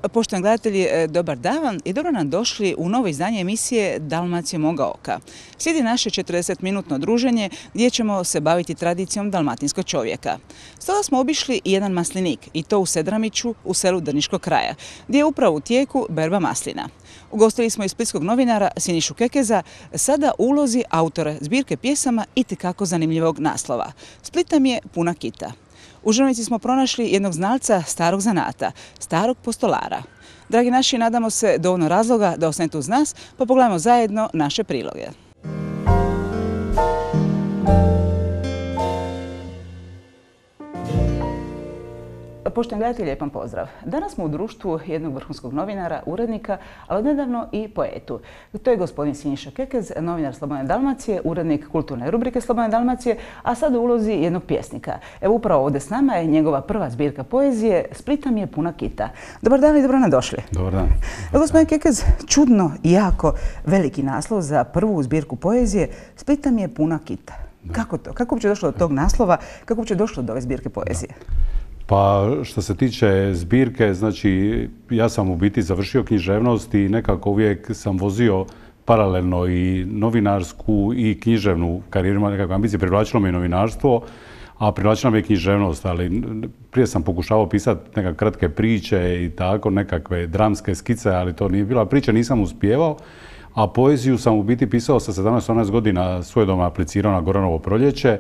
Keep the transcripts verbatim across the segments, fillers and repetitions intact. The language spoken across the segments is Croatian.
Poštovani gledatelji, dobar dan i dobro nam došli u novo izdanje emisije Dalmacija moga oka. Slijedi naše četrdesetminutno druženje gdje ćemo se baviti tradicijom dalmatinskog čovjeka. Stoga smo obišli i jedan maslinik, i to u Sedramiću, u selu Drniškog kraja, gdje je upravo u tijeku berba maslina. Ugostili smo i splitskog novinara Sinišu Kekeza, sada u ulozi autora zbirke pjesama itekako zanimljivog naslova. Splita mi je puna kita. U Žrnovici smo pronašli jednog znalca starog zanata, starog postolara. Dragi naši, nadamo se dovoljno razloga da ostanete uz nas, pa pogledajmo zajedno naše priloge. Poštovani gledatelji, lijepan pozdrav. Danas smo u društvu jednog vrhunskog novinara, urednika, ali odnedavno i poetu. To je gospodin Siniša Kekez, novinar Slobodne Dalmacije, urednik kulturne rubrike Slobodne Dalmacije, a sad u ulozi jednog pjesnika. Evo upravo ovdje s nama je njegova prva zbirka poezije Splita mi je puna kita. Dobar dan i dobro nam došli. Dobar dan. Evo gospodin Kekez, čudno i jako veliki naslov za prvu zbirku poezije Splita mi je puna kita. Kako to? Kako uopće došlo do tog naslova? Kako uopće došlo do ove zbirke poezije? Pa što se tiče zbirke, znači ja sam u biti završio književnost i nekako uvijek sam vozio paralelno i novinarsku i književnu karijeru, ima nekakve ambicije, privlačilo me i novinarstvo, a privlačila me i književnost, ali prije sam pokušavao pisati nekakve kratke priče i tako, nekakve dramske skice, ali to nije bila priča, nisam uspijevao, a poeziju sam u biti pisao sa sedamnaest osamnaest godina, svojedobno aplicirao na Goranovo proljeće,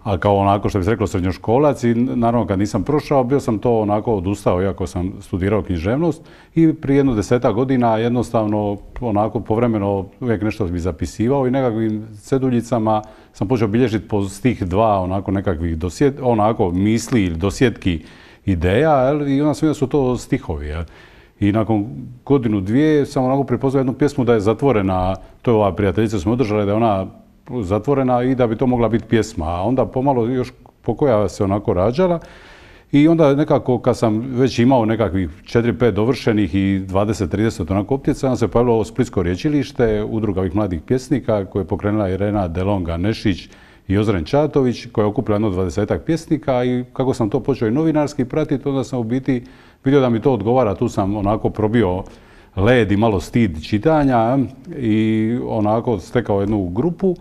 a kao onako što bi se reklo srednjoškolac i naravno kad nisam prošao bio sam to onako odustao iako sam studirao književnost i prije jedno deseta godina jednostavno onako povremeno uvijek nešto bi zapisivao i nekakvim ceduljicama sam počeo bilježiti po stih dva onako nekakvih dosjet, onako misli ili dosjetki ideja jel? I onda sam vidio da su to stihovi. Jel? I nakon godinu dvije sam onako prepoznao jednu pjesmu da je zatvorena, to je ova prijateljica smo održali da je ona zatvorena i da bi to mogla biti pjesma. A onda pomalo još pokoja se onako rađala i onda nekako kad sam već imao nekakvih četiri pet dovršenih i dvadeset trideset onako optjeca, onda se pojavilo ovo Splitsko rječilište, udruga ovih mladih pjesnika koje je pokrenula Irena Delonga Nešić i Ozren Čatović koja je okupila jedno dvadesetak pjesnika i kako sam to počeo i novinarski pratiti, onda sam u biti vidio da mi to odgovara, tu sam onako probio led i malo stid čitanja i onako stekao jednu grupu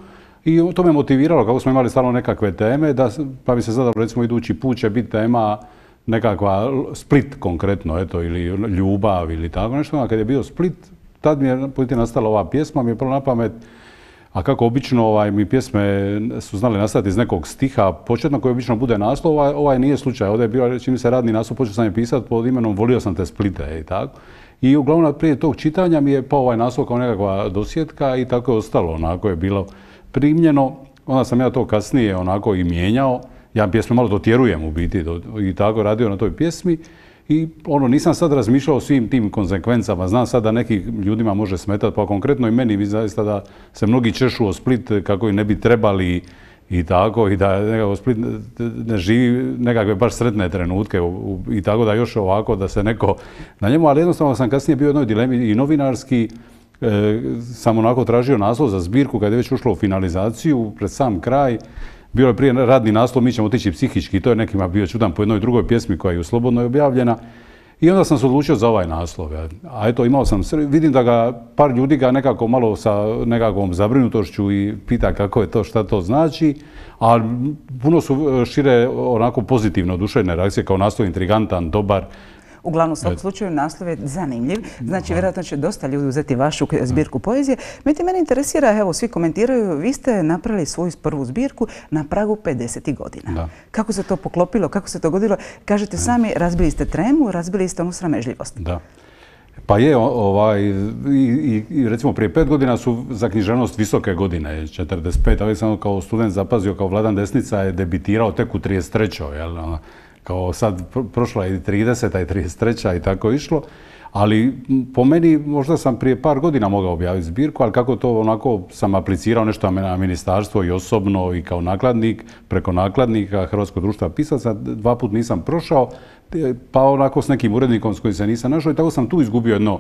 i to me motiviralo kako smo imali stalno nekakve teme, da, pa bi se zadalo recimo idući put će biti tema nekakva Split konkretno, eto, ili ljubav ili tako nešto. A kad je bio Split, tad mi je nastala ova pjesma, mi je prvo na pamet, a kako obično ovaj, mi pjesme su znali nastati iz nekog stiha početno koji obično bude naslov, ovaj, ovaj nije slučaj. Ovdje je bio, čini se radni naslov, počeo sam je pisati pod imenom Volio sam te Splite i tako. I uglavnom prije tog čitanja mi je pao ovaj naslov kao nekakva dosjetka i tako je ostalo, onako je bilo primljeno. Onda sam ja to kasnije onako i mijenjao. Ja pjesme malo dotjerujem u biti i tako radio na toj pjesmi. I ono, nisam sad razmišljao o svim tim konsekvencama. Znam sad da nekim ljudima može smetati, pa konkretno i meni zaista da se mnogi češu o Split kako i ne bi trebali i tako, i da nekako Split ne živi nekakve baš sretne trenutke i tako da još ovako da se neko na njemu, ali jednostavno sam kasnije bio u jednoj dilemi i novinarski, e, sam onako tražio naslov za zbirku kad je već ušlo u finalizaciju, pred sam kraj, bio je prije radni naslov Mi ćemo otići psihički, to je nekima bio čudan po jednoj drugoj pjesmi koja je u Slobodnoj objavljena. I onda sam se odlučio za ovaj naslov. A eto, imao sam, vidim da ga par ljudi ga nekako malo sa nekakvom zabrinutošću i pita kako je to, šta to znači, a puno su šire onako pozitivno oduševljene reakcije kao naslov intrigantan, dobar. Uglavnom, u svakom slučaju naslov je zanimljiv. Znači, vjerojatno će dosta ljudi uzeti vašu zbirku poezije. Međutim, mene interesira, evo, svi komentiraju, vi ste napravili svoju prvu zbirku na pragu pedeset godina. Da. Kako se to poklopilo, kako se to godilo? Kažete sami, razbili ste tremu, razbili ste onu sramežljivost. Da. Pa je, ovaj, i, i recimo prije pet godina su za književnost visoke godine, četrdeset pet. Uvijek sam kao student zapazio, kao Vladan Desnica je debitirao tek u trideset trećoj. Jel? Kao sad prošla je i trideseta i trideset treća i tako išlo. Ali po meni možda sam prije par godina mogao objaviti zbirku, ali kako to onako sam aplicirao nešto na ministarstvo i osobno i kao nakladnik, preko nakladnika Hrvatskog društva pisaca, dva put nisam prošao, pa onako s nekim urednikom s kojim se nisam našao i tako sam tu izgubio jedno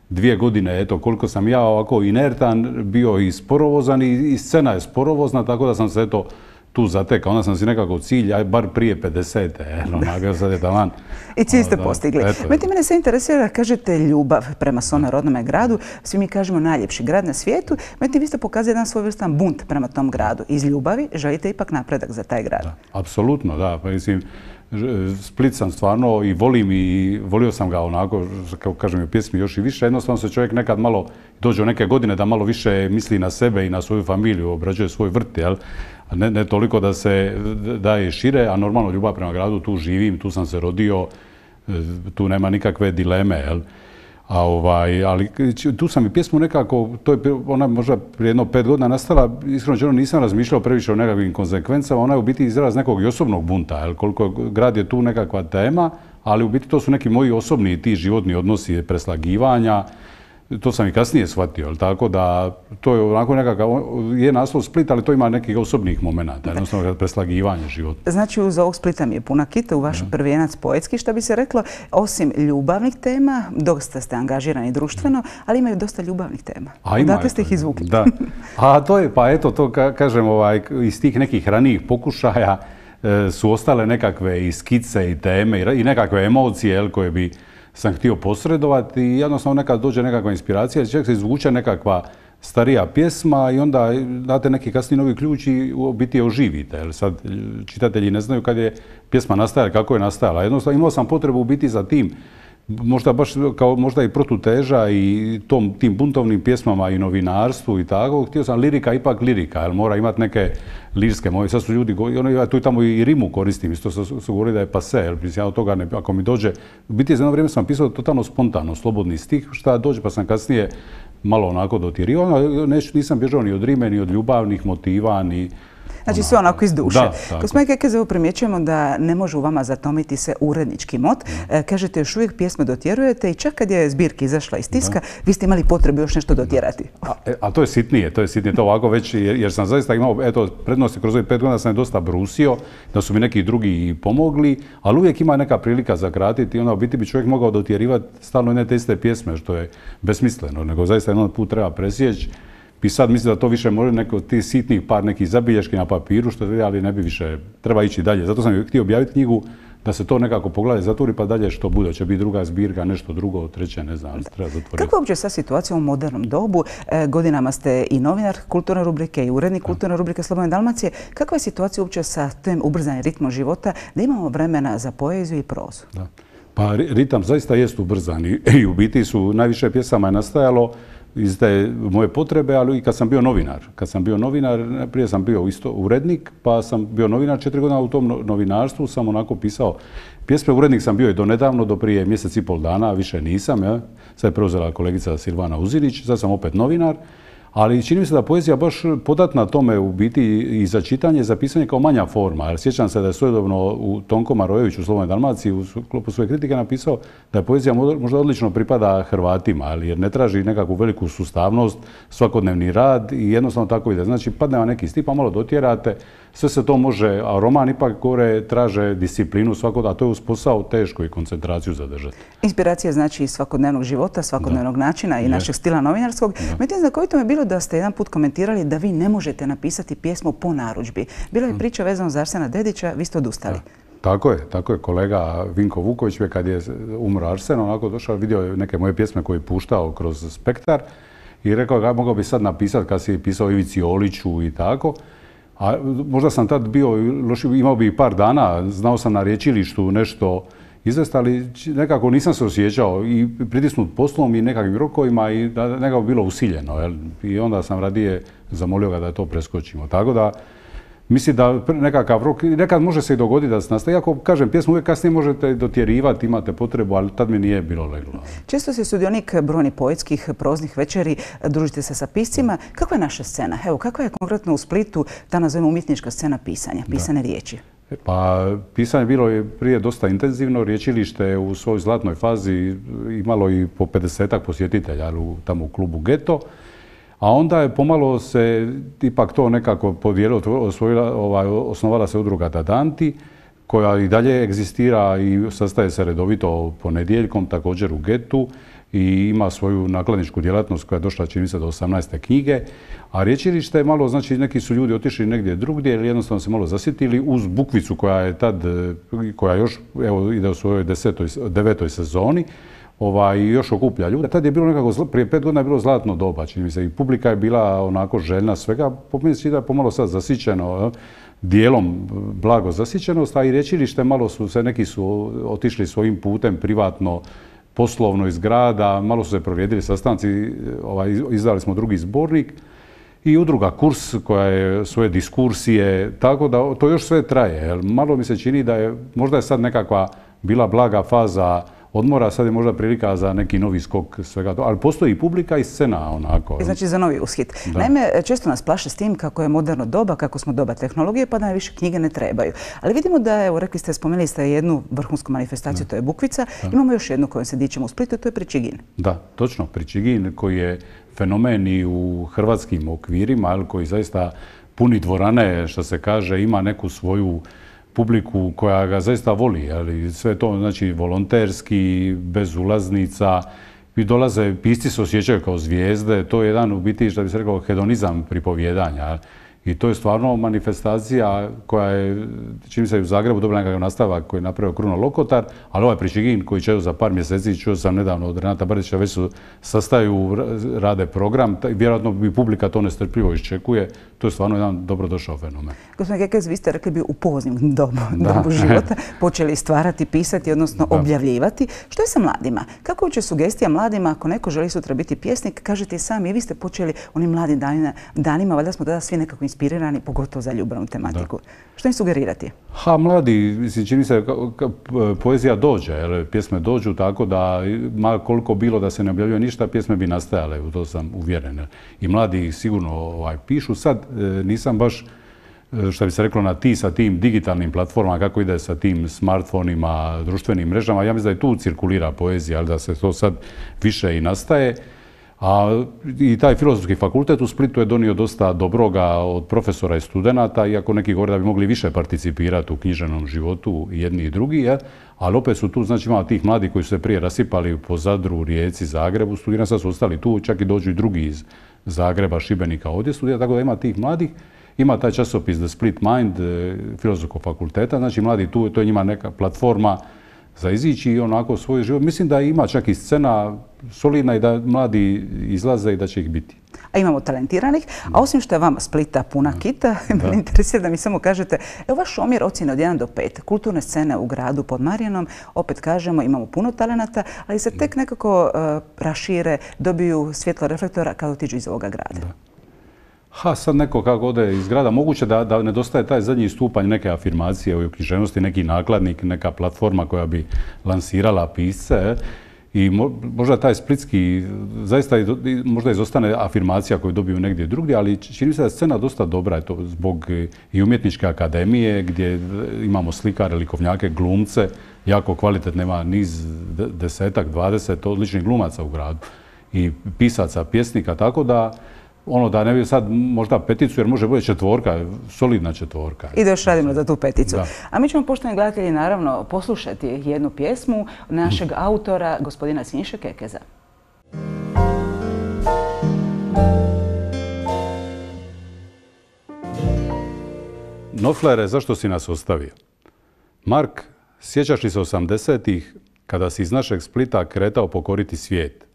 dvije godine, eto koliko sam ja ovako inertan, bio i sporovozan i scena je sporovozna, tako da sam se eto tu zatekao. Onda sam si nekako cilj, aj bar prije pedesete. Onaga, sad je taman. I cilj ste postigli. Međutim, mene se interesira, kažete ljubav prema svome rodnome gradu. Svi mi kažemo najljepši grad na svijetu. Međutim, vi ste pokazali jedan svojevrstan bunt prema tom gradu. Iz ljubavi želite ipak napredak za taj grad. Apsolutno, da. Pa mislim, Split sam stvarno i volim i volio sam ga onako, kao kažem u pjesmi još i više. Jednostavno se čovjek nekad malo dođe u neke godine da malo više misli na sebe i na svoju familiju, obrađuje svoj vrt, jel? A ne, ne toliko da se daje šire, a normalno ljubav prema gradu, tu živim, tu sam se rodio, tu nema nikakve dileme, jel? A ovaj, ali tu sam i pjesmu nekako, to je ona možda prije jedno pet godina nastala, iskreno nisam razmišljao previše o nekakvim konsekvencama, ona je u biti izraz nekog i osobnog bunta, jel? Koliko grad je tu nekakva tema, ali u biti to su neki moji osobni ti životni odnosi, preslagivanja, to sam i kasnije shvatio, tako da to je onako nekakav, je naslov Split, ali to ima nekih osobnih momenata, jednostavno preslagivanje života. Znači, uz ovog Splita mi je puna kita, u vaš prvijenac poetski, što bi se reklo, osim ljubavnih tema, dosta ste angažirani društveno, ali imaju dosta ljubavnih tema. Odakle ste ih izvukli? Da. A to je, pa eto, to kažem, iz tih nekih ranijih pokušaja su ostale nekakve i skice i teme i nekakve emocije koje bi sam htio posredovati i jednostavno nekad dođe nekakva inspiracija, čak se izvuče nekakva starija pjesma i onda date neki kasniji novi ključ i u biti je oživite. Jer sad čitatelji ne znaju kad je pjesma nastajala, kako je nastajala. Jednostavno imao sam potrebu u biti za tim, možda baš kao možda i protuteža i tom, tim buntovnim pjesmama i novinarstvu i tako. Htio sam lirika, ipak lirika, jer mora imati neke lirske moje. Sad su ljudi, ja tu i tamo i rimu koristim, isto su, su govorili da je pase, jer ja od toga ne, ako mi dođe, u biti za jedno vrijeme sam pisao totalno spontano, slobodni stih, šta dođe, pa sam kasnije malo onako dotjerivao, nisam bježao ni od rime, ni od ljubavnih motiva, ni... Znači sve onako iz duše. Gospodine Kekezevo, primjećujemo da ne može u vama zatomiti se urednički mot. Kažete, još uvijek pjesme dotjerujete i čak kad je zbirka izašla iz tiska, vi ste imali potrebu još nešto dotjerati. A to je sitnije, to je sitnije, to ovako već, jer sam zaista imao, eto, prednosti kroz ovih pet godina sam je dosta brusio, da su mi neki drugi pomogli, ali uvijek ima neka prilika za kratiti i onda u biti bi čovjek mogao dotjerivati stalno ne te iste pjesme, što je besmisleno, nego zaista jedan put treba presjeći. I sad mislim da to više može neko ti sitnih par nekih zabilješki na papiru, što je, ali ne bi više, treba ići dalje. Zato sam htio objaviti knjigu da se to nekako pogleda, zatvori pa dalje što bude. Će biti druga zbirka, nešto drugo, treće, ne znam, treba zatvoriti. Kako je uopće sad situacija u modernom dobu? Godinama ste i novinar kulturne rubrike i urednik kulturne rubrike Slobodne Dalmacije. Kakva je situacija uopće sa tim ubrzanim ritmom života da imamo vremena za poeziju i prozu? Da. Pa ritam zaista jest ubrzan i u biti su najviše pjesama je nastajalo iz te moje potrebe, ali i kad sam bio novinar. Kad sam bio novinar, prije sam bio isto urednik, pa sam bio novinar četiri godina u tom novinarstvu, sam onako pisao pjesme. Urednik sam bio i do nedavno, do prije mjesec i pol dana, više nisam. Ja. Sad je preuzela kolegica Silvana Uzinić, sad sam opet novinar. Ali čini mi se da poezija baš podatna tome u biti i za čitanje, za pisanje kao manja forma. Jer sjećam se da je svojedobno u Tonko Marojević u Slobodnoj Dalmaciji u sklopu svoje kritike napisao da je poezija možda odlično pripada Hrvatima, jer ne traži nekakvu veliku sustavnost, svakodnevni rad i jednostavno tako ide. Znači, padne vam neki stih, pa malo dotjerate, sve se to može, a roman ipak gore traže disciplinu svakog, a to je uz posao teško i koncentraciju zadržati. Inspiracija znači iz svakodnevnog života, svakodnevnog načina i našeg stila novinarskog. Međutim, znakovito mi je bilo da ste jedan put komentirali da vi ne možete napisati pjesmu po narudžbi. Bila je priča vezano za Arsena Dedića, vi ste odustali. Tako je, tako je. Kolega Vinko Vuković, kad je umro Arsen, onako došao, vidio je neke moje pjesme koje je puštao kroz Spektar i rekao ga mogao bi sad napisati kad si pisao Ivici Oliću i tako. A možda sam tad bio, imao bi i par dana, znao sam na riječilištu nešto izvesti, ali nekako nisam se osjećao i pritisnut poslom i nekakvim rokovima i da nekako bilo usiljeno. Jel? I onda sam radije zamolio ga da to preskočimo. Tako da mislim da nekakav rok, nekad može se i dogoditi da se nastaje. Iako, kažem, pjesmu uvijek kasnije možete dotjerivati, imate potrebu, ali tad mi nije bilo leglo. Često ste sudionik brojnih poetskih, proznih večeri, družite se sa piscima. Kakva je naša scena? Evo, kakva je konkretno u Splitu ta, nazovimo, umjetnička scena pisanja, pisane riječi? Pa, pisanje bilo je prije dosta intenzivno. Riječilište u svojoj zlatnoj fazi imalo i po pedesetak posjetitelja tamo u klubu Geto. A onda je pomalo se ipak to nekako podijelilo, osnovala se udruga Dadanti, koja i dalje egzistira i sastaje se redovito ponedjeljkom, također u Getu, i ima svoju nakladničku djelatnost koja je došla, čini se, do osamnaeste knjige. A Rječilište je malo, znači neki su ljudi otišli negdje drugdje ili jednostavno se malo zasjetili uz Bukvicu koja je tad, koja još evo, ide u svojoj desetoj, devetoj sezoni, ovaj, još okuplja ljude. Tad je bilo nekako, prije pet godina je bilo zlatno doba, čini mi se, i publika je bila onako željna svega, po meni se da je pomalo sad zasićeno, dijelom blago zasićenost, a i Rječilište malo su se, neki su otišli svojim putem privatno, poslovno iz grada, malo su se prorijedili sastanci, ovaj, izdali smo drugi zbornik i udruga Kurs koja je svoje diskursije, tako da to još sve traje. Malo mi se čini da je, možda je sad nekakva bila blaga faza odmora, sad je možda prilika za neki novi skok svega to, ali postoji i publika i scena onako. Znači za novi ushit. Naime, često nas plaše s tim kako je moderno doba, kako smo doba tehnologije, pa da više knjige ne trebaju. Ali vidimo da, evo, rekli ste, spomenuli ste jednu vrhunsku manifestaciju, to je Bukvica. Imamo još jednu kojom se dičemo u Splitu, to je Pričigin. Da, točno, Pričigin koji je fenomen i u hrvatskim okvirima, koji zaista puni dvorane, što se kaže, ima neku svoju publiku koja ga zaista voli, ali sve to znači volonterski, bez ulaznica, i dolaze, pisci se osjećaju kao zvijezde, to je jedan u biti, što bi se rekao, hedonizam pripovjedanja. I to je stvarno manifestacija koja je, čini se, u Zagrebu dobila nekakav nastavak koji je napravio Kruno Lokotar, ali ovaj Pričigin koji će za par mjeseci, čuo sam nedavno od Renata Bardića, već su sastaju, rade program, vjerojatno bi publika to nestrpljivo iščekuje. To je stvarno jedan dobrodošao fenomen. Gospodine Kekez, vi ste rekli bi u poznim dobu, dobu života počeli stvarati, pisati, odnosno da. objavljivati. Što je sa mladima? Kako će sugestija mladima ako neko želi sutra biti pjesnik? Kažete i sami, vi ste počeli onim mladim danima, danima valjda smo tada svi nekako inspirirani, pogotovo za ljubavnu tematiku. Da. Što im sugerirati? Ha, mladi, čini se, poezija dođe, jer pjesme dođu tako da, ma koliko bilo da se ne objavljuje ništa, pjesme bi nastajale, u to sam uvjeren. I mladi sigurno ovaj, pišu. Sad nisam baš, što bi se reklo, na ti sa tim digitalnim platformama, kako ide sa tim smartfonima, društvenim mrežama. Ja mislim da i tu cirkulira poezija, ali da se to sad više i nastaje. A i taj filozofski fakultet u Splitu je donio dosta dobroga od profesora i studenata, iako neki govore da bi mogli više participirati u književnom životu jedni i drugi, je. Ali opet su tu, znači ima tih mladih koji su se prije rasipali po Zadru, Rijeci, Zagrebu, studirani sad su ostali tu, čak i dođu i drugi iz Zagreba, Šibenika ovdje studira, tako da ima tih mladih. Ima taj časopis The Split Mind filozofskog fakulteta, znači mladi tu, to je njima neka platforma za izići i onako svoj život. Mislim da ima čak i scena solidna i da mladi izlaze i da će ih biti. A imamo talentiranih, a osim što je vama Splita puna kita, me interesira da mi samo kažete, evo vaš omjer ocjene od jedan do pet, kulturne scene u gradu pod Marijanom, opet kažemo, imamo puno talenata, ali se tek nekako uh, rašire, dobiju svjetlo reflektora kada otiđu iz ovoga grada. Da. Ha, sad neko kako ode iz grada, moguće da, da nedostaje taj zadnji stupanj neke afirmacije u književnosti, neki nakladnik, neka platforma koja bi lansirala pisce. I možda taj splitski, zaista možda izostane afirmacija koju dobiju negdje drugdje, ali čini se da je scena dosta dobra, eto, zbog i umjetničke akademije, gdje imamo slikare, likovnjake, glumce, jako kvalitetne, ima niz desetak, dvadeset odličnih glumaca u gradu i pisaca, pjesnika, tako da ono da ne bi sad možda peticu, jer može bude četvorka, solidna četvorka. I da još radimo za tu peticu. Da. A mi ćemo, poštovani gledatelji, naravno poslušati jednu pjesmu našeg autora, gospodina Siniše Kekeza. Noflere, zašto si nas ostavio? Mark, sjećaš li se osamdesetih kada si iz našeg Splita kretao pokoriti svijet?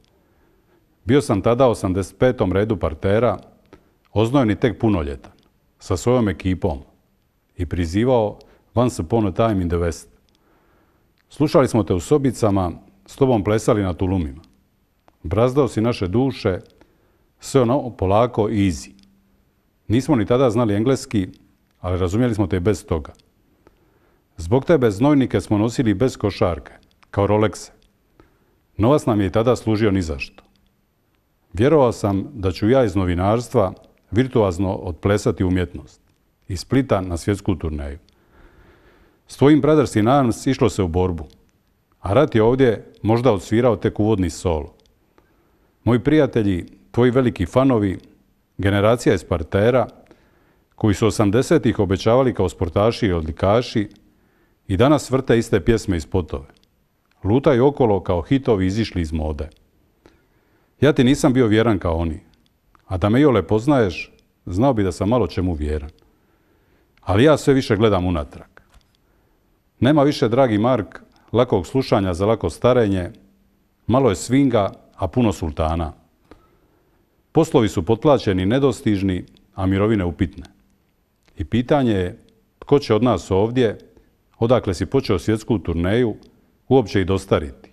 Bio sam tada u osamdeset petom redu partera, oznojeni tek punoljetan, sa svojom ekipom i prizivao Once upon a time in the West. Slušali smo te u sobicama, s tobom plesali na tulumima. Brazdao si naše duše, sve ono polako easy. Nismo ni tada znali engleski, ali razumjeli smo te i bez toga. Zbog tebe znojnike smo nosili bez košarke, kao Rolexe. Novac nam je i tada služio ni zašto. Vjerovao sam da ću ja iz novinarstva virtuozno otplesati umjetnost. Iz Splita na svjetsku turneju. S tvojim Brothers in Arms išlo se u borbu. A rat je ovdje možda odsvirao tek uvodni solo. Moji prijatelji, tvoji veliki fanovi, generacija iz partera, koji su osamdesetih obećavali kao sportaši i odlikaši, I danas vrte iste pjesme i spotove. Lutaju okolo kao hitovi izišli iz mode. Ja ti nisam bio vjeran kao oni. A da me iole poznaješ, znao bi da sam malo čemu vjeran. Ali ja sve više gledam unatrag. Nema više, dragi Mark, lakog slušanja za lako starenje, malo je swinga, a puno sultana. Poslovi su potplaćeni i nedostižni, a mirovine upitne. I pitanje je tko će od nas ovdje, odakle si počeo svjetsku turneju, uopće i dostariti.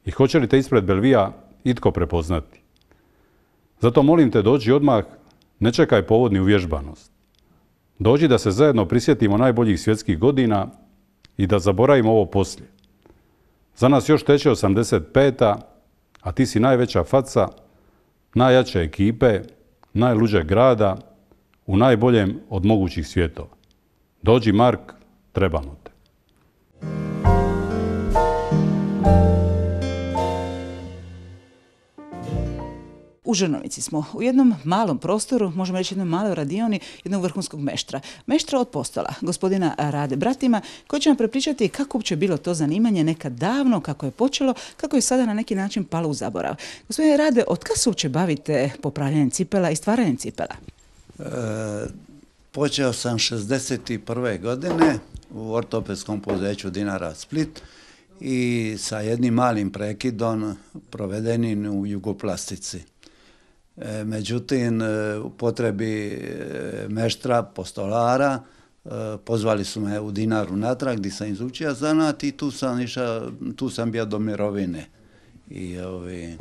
I hoće li te ispred Belvija itko prepoznati. Zato molim te, dođi odmah, ne čekaj povod ni uvježbanost. Dođi da se zajedno prisjetimo najboljih svjetskih godina i da zaboravimo ovo poslije. Za nas još teče osamdeset peta, a ti si najveća faca, najjače ekipe, najluđeg grada, u najboljem od mogućih svjetova. Dođi, Mark, trebamo te. U Žrnovici smo, u jednom malom prostoru, možemo reći jednom maloj radioni, jednog vrhunskog meštra. Meštra od postola, gospodina Rade Bratima, koji će nam prepričati kako uopće bilo to zanimanje nekad davno, kako je počelo, kako je sada na neki način palo u zaborav. Gospodine Rade, od kad se uopće bavite popravljanjem cipela i stvaranjem cipela? E, počeo sam šezdeset prve godine u ortopedskom poduzeću Dinara Split i sa jednim malim prekidom provedenim u Jugoplastici. E, međutim, u potrebi meštra, postolara, e, pozvali su me u Dinaru natrag gdje sam izučio zanat i tu sam, iša, tu sam bio do mirovine. I, ovi,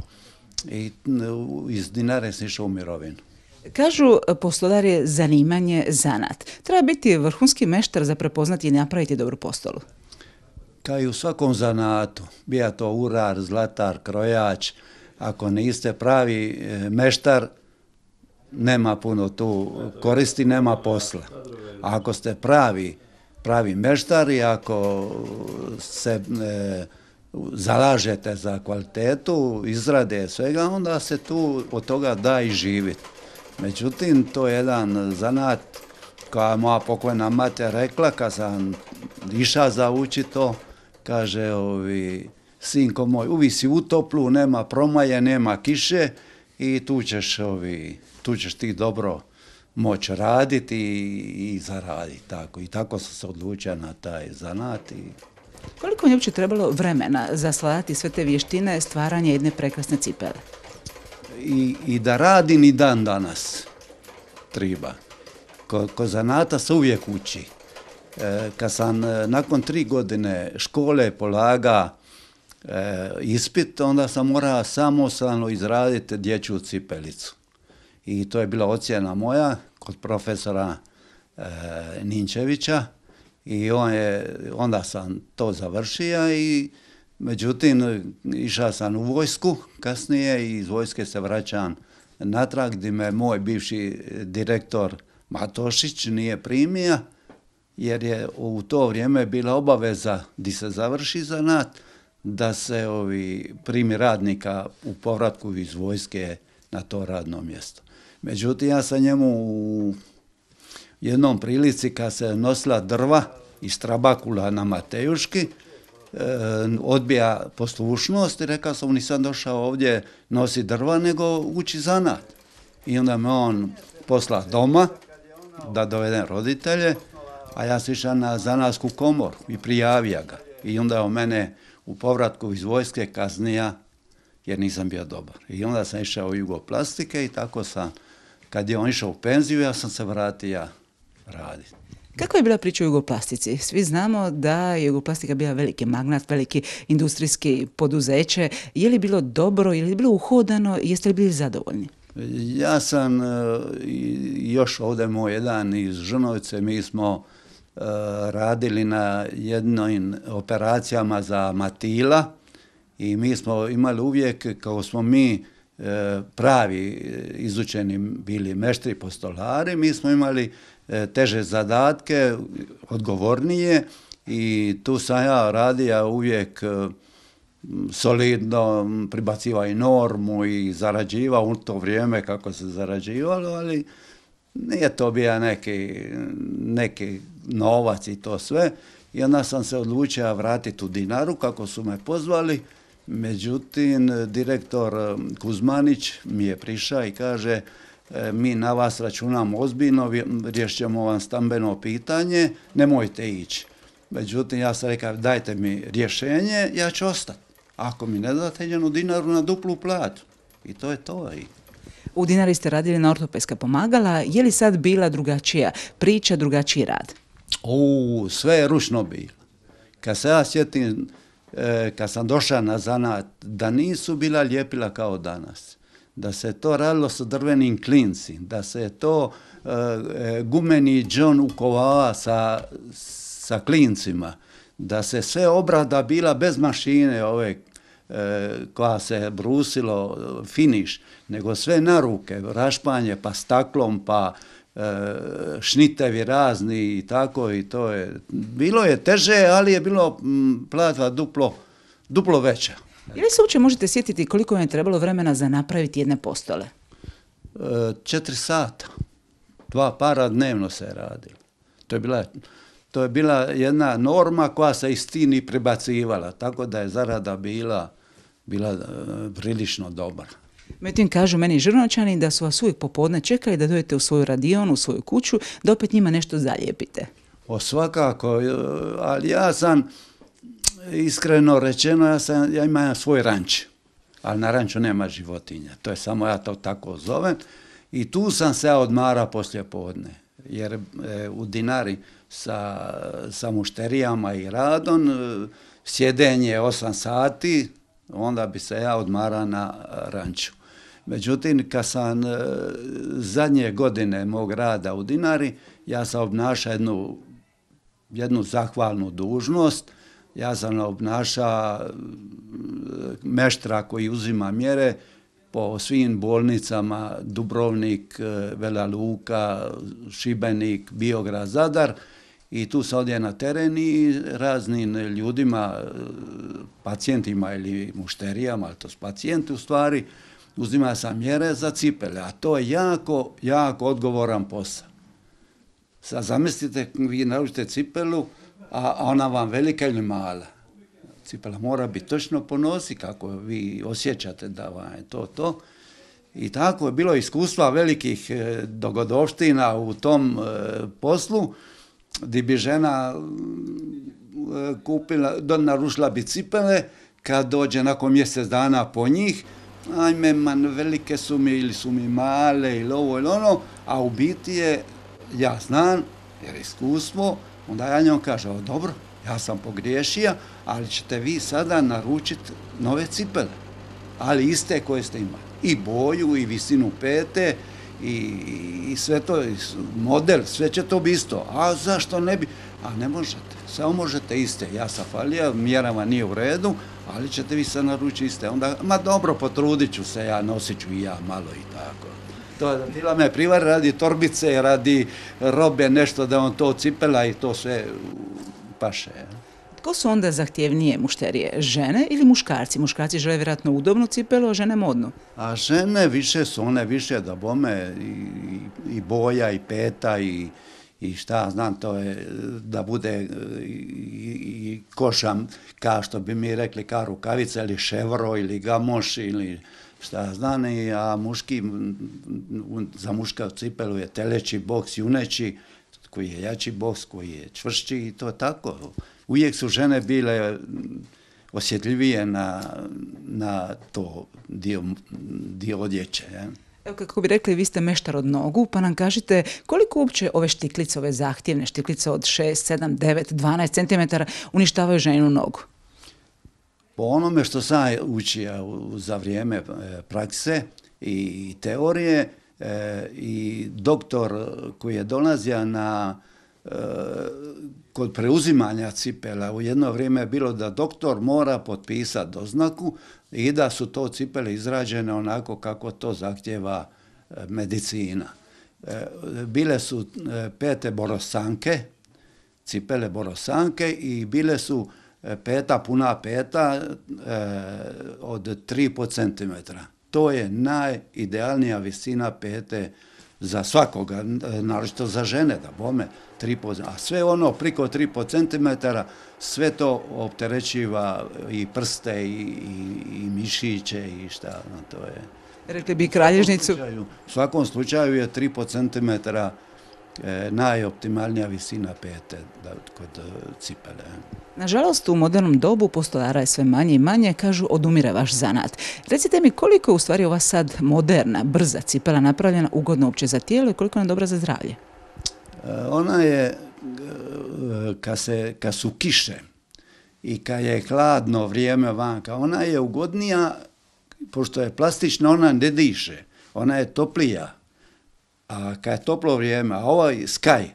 i iz Dinare sam išao u mirovinu. Kažu, postolar je zanimanje, zanat. Treba biti vrhunski meštar za prepoznati i napraviti dobru postolu. Kao i u svakom zanatu, bija to urar, zlatar, krojač, ako niste pravi meštar, nema puno tu koristi, nema posla. A ako ste pravi, pravi meštar i ako se e, zalažete za kvalitetu, izrade svega, onda se tu od toga da i živjeti. Međutim, to je jedan zanat koja moja pokojna mati rekla kad sam išao za uči to, kaže, ovi, sinko moj, uvi si u toplu, nema promaje, nema kiše i tu ćeš, ovi, tu ćeš ti dobro moći raditi i, i zaraditi. Tako. I tako sam se odlučio na taj zanat. I... Koliko je uopće trebalo vremena za svladati sve te vještine stvaranja jedne prekrasne cipele? I, i da radim i dan danas treba. Ko, ko zanata se uvijek uči. E, kad sam e, nakon tri godine škole polaga e, ispit, onda sam morao samostalno izraditi dječju cipelicu. I to je bila ocjena moja kod profesora e, Ninčevića i on je, onda sam to završio i međutim, išao sam u vojsku kasnije i iz vojske se vraćam natrag gdje me moj bivši direktor Matošić nije primio, jer je u to vrijeme bila obaveza gdje se završi zanat da se ovi primi radnika u povratku iz vojske na to radno mjesto. Međutim, ja sam njemu u jednom prilici kad se nosila drva iz Trabakula na Matejuški, odbija poslušnost i rekao sam, nisam došao ovdje nosi drva, nego uči zanat. I onda me on posla doma da dovedem roditelje, a ja sam išao na zanatsku komoru i prijavio ga. I onda on mene u povratku iz vojske kaznija jer nisam bio dobar. I onda sam išao u Jugoplastike i tako sam, kad je on išao u penziju, ja sam se vratio raditi. Kako je bila priča u Jugoplastici? Svi znamo da je Jugoplastika bila veliki magnat, veliki industrijski poduzeće. Je li bilo dobro, je li bilo uhodano, jeste li bili zadovoljni? Ja sam još ovdje moj jedan iz Žrnovice, mi smo radili na jednim operacijama za Matila i mi smo imali uvijek, kao smo mi pravi izučeni bili meštri postolari, mi smo imali teže zadatke, odgovornije i tu sam ja radio uvijek solidno, pribacivao i normu i zarađivao u to vrijeme kako se zarađivalo, ali nije to bio neki, neki novac i to sve. i onda sam se odlučio vratiti u Dinaru kako su me pozvali. Međutim, direktor Kuzmanić mi je prišao i kaže mi na vas računamo ozbiljno, riješit ćemo vam stambeno pitanje, nemojte ići. Međutim, ja sam rekao dajte mi rješenje, ja ću ostati. Ako mi ne date, idem u Dinaru na duplu platu. I to je to. U Dinari ste radili na ortopedska pomagala, je li sad bila drugačija priča, drugačiji rad? U, sve je ručno bilo. Kad se ja sjetim, kad sam došao na zanat, da nisu bila ljepila kao danas, da se to radilo sa drvenim klinci, da se to e, gumeni džon ukovava sa, sa klincima, da se sve obrada bila bez mašine ove e, koja se brusilo, finiš, nego sve na ruke, rašpanje, pa staklom, pa e, šnitevi razni i tako i to je. Bilo je teže, ali je bilo m, platva duplo, duplo veća. Je li se uopće možete sjetiti koliko vam je trebalo vremena za napraviti jedne postole? E, četiri sata. Dva para dnevno se radilo. To je bila, to je bila jedna norma koja se iz stini prebacivala, tako da je zarada bila, bila e, prilično dobra. Međutim, kažu meni Žrnočani da su vas uvijek popodne čekali da dođete u svoju radionu, u svoju kuću, da opet njima nešto zalijepite. O svakako, ali ja sam, iskreno rečeno, ja, sam, ja imam svoj ranč, ali na ranču nema životinja, to je samo ja to tako zovem. I tu sam se ja odmara poslije podne, jer e, u Dinari sa, sa mušterijama i radom, e, sjedenje osam sati, onda bi se ja odmara na ranču. Međutim, kad sam e, zadnje godine mog rada u Dinari, ja sam obnašao jednu, jednu zahvalnu dužnost. Ja sam obnašao meštra koji uzima mjere po svim bolnicama Dubrovnik, Vela Luka, Šibenik, Biograd, Zadar. I tu sam odje na teren i raznim ljudima, pacijentima ili mušterijama, ali to su pacijenti u stvari, uzima sam mjere za cipele, a to je jako, jako odgovoran posao. Sad zamislite, vi naručite cipelu, a ona vam velika ili mala. Cipela mora biti točno po nosi, kako vi osjećate da vam je to to. I tako je bilo iskustva velikih dogodovština u tom poslu, gdje bi žena kupila, narušila bi cipele, kad dođe nakon mjesec dana po njih, ajme, man, velike su mi ili su mi male ili ovo ili ono, a u biti je, ja znam, jer iskustvo, onda ja njom kažem, o, dobro, ja sam pogriješio, ali ćete vi sada naručiti nove cipele, ali iste koje ste imali. I boju, i visinu pete, i, i sve to, model, sve će to biti isto. A zašto ne bi? A ne možete, samo možete iste. Ja sam falija, mjerama nije u redu, ali ćete vi sad naručiti iste. Onda, ma dobro, potrudit ću se, ja nosit ću i ja malo i tako. To bila me privar radi torbice, radi robe, nešto da on to cipela i to sve paše. Tko su onda zahtjevnije mušterije, žene ili muškarci? Muškarci žele vjerojatno udobnu cipelu, a žene modnu. A žene više su one više da bome i, i boja i peta i, i šta znam, to je da bude i, i košam, kao što bi mi rekli, kao rukavica ili ševro ili gamoš ili šta znam, a muški, za muška cipelu je teleći boks, juneći, koji je jači boks, koji je čvršći i to tako. Uvijek su žene bile osjetljivije na, na to dio, dio odjeće. Je. Evo, kako bi rekli, vi ste meštar od nogu, pa nam kažite koliko uopće ove štiklice, ove zahtjevne štiklice od šest, sedam, devet, dvanaest centimetara uništavaju ženu nogu? Po onome što sam učio za vrijeme prakse i teorije, e, i doktor koji je dolazio na e, kod preuzimanja cipela, u jedno vrijeme je bilo da doktor mora potpisati doznaku i da su to cipele izrađene onako kako to zahtjeva medicina. Bile su pete borosanke, cipele borosanke i bile su peta, puna peta od tri i pol centimetra. To je najidealnija visina pete za svakoga, naročito za žene, da bome, tri po, a sve ono priko tri po centimetara, sve to opterećiva i prste i, i, i mišiće i šta, no, to je. Rekli bi kralježnicu. U svakom slučaju je tri po centimetara e, najoptimalnija visina pete da, kod e, cipele. Nažalost, u modernom dobu postolara je sve manje i manje, kažu odumire vaš zanat. Recite mi koliko je u stvari ova sad moderna, brza cipela napravljena ugodno uopće za tijelo i koliko je ona dobra za zdravlje? E, ona je, e, kad, se, kad su kiše i kad je hladno vrijeme vanka, ona je ugodnija, pošto je plastična, ona ne diše, ona je toplija, a kad je toplo vrijeme, a ovaj Sky,